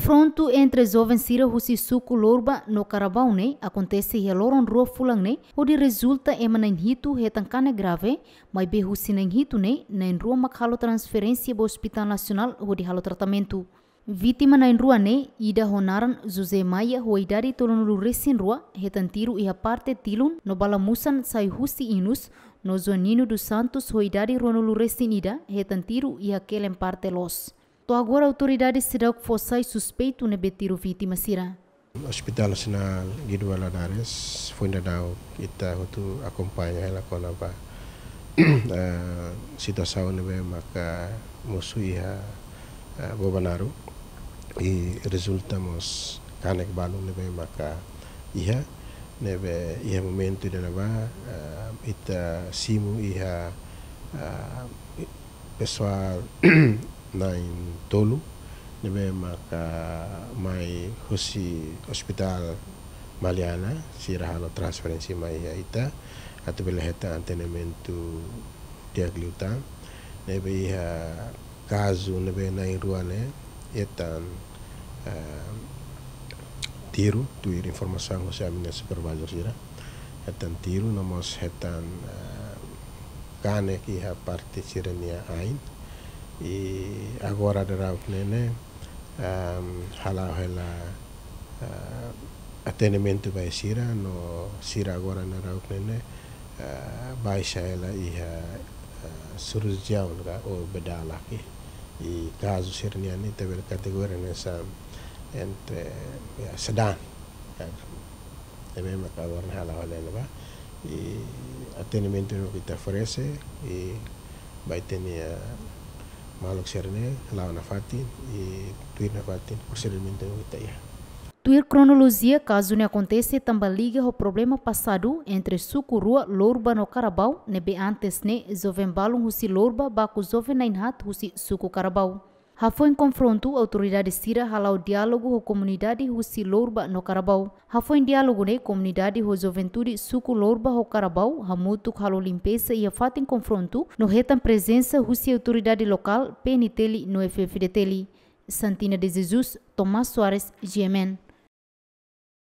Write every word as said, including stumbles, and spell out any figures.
Konfrontu entre joven sira husi suku Lorba no Karabau ne'e akontese iha loron rua fulan ne'e, hodi rezulta ema na'in hitu hetan kanek grave, maibé husi na'in hitu ne'e, na'in rua mak halo transferénsia ba Hospital Nasionál hodi halo tratamentu. Vítima na'in rua ne'e, ida ho naran José Maia ho idade tolunulu resin rua, hetan tiru iha parte tilun no bala musan sai husi inus, no Joanino dos Santos ho idade ruanulu resin ida, hetan tiru iha kelen parte loos. To'o agora autoridade seidauk fó sai suspeitu ne'ebé tiru vítima sira. Hospital Nasionál Guido Valadares, foin daudauk ita hotu akompaña hela kona-ba, eh, situasaun ne'ebé maka mosu iha, eh, Bobonaro. I rezulta mós kanek balu ne'ebé maka iha, ne'ebé iha momentu ida-ne'ebá, eh, ita simu iha, eh, pesoál na'in tolu, ne'ebé maka mai husi Hospital Maliana, sira halo transferénsia mai iha ita, atu bele hetan atendimentu di'ak liután, ne'ebé iha kazu ne'ebé na'in rua ne'e, hetan, eh, tiru, tuir informasaun husi ami-nia supervisor sira, hetan tiru, no mós hetan, eh, kanek iha parte sira-nia ain. I agora daudauk ne'e ne'e, ehm, hala'o hela, eh, atendimentu ba sira, no sira agora daudauk ne'e ne'e, eh, baixa hela iha, eh, sirurjiaun ka, ou bedalak. I kazu sira-nian ne'e ita bele kategoria hanesan entre, ya, sedang, ya. Ne'ebé maka agora ne'e hala'o hela ne'ebá. I atendimentu ne'ebé ita oferese, i ba ita-nia, eh, maluk sira-ne'e, la'o nafatin, i tuir nafatin prosedimentu ne'ebé ita iha. Tuir kronolojia, kazu ne'e akontese tanba liga ho problema pasadu entre suku rua Lorba no Karabau, ne'ebé antes ne'e joven balun husi Lorba baku joven na'in haat husi suku Karabau. Hafoin konfrontu, autoridade sira hala'o diálogu ho komunidade husi Lorba no Karabau. Hafoin diálogu ne'e, komunidade ho juventude suku Lorba ho Karabau hamutuk halo limpeza iha fatin konfrontu, no hetan prezensa husi autoridade lokál, P N T L no F F D T L. Santina de Jesus, Tomás Soares, G M N.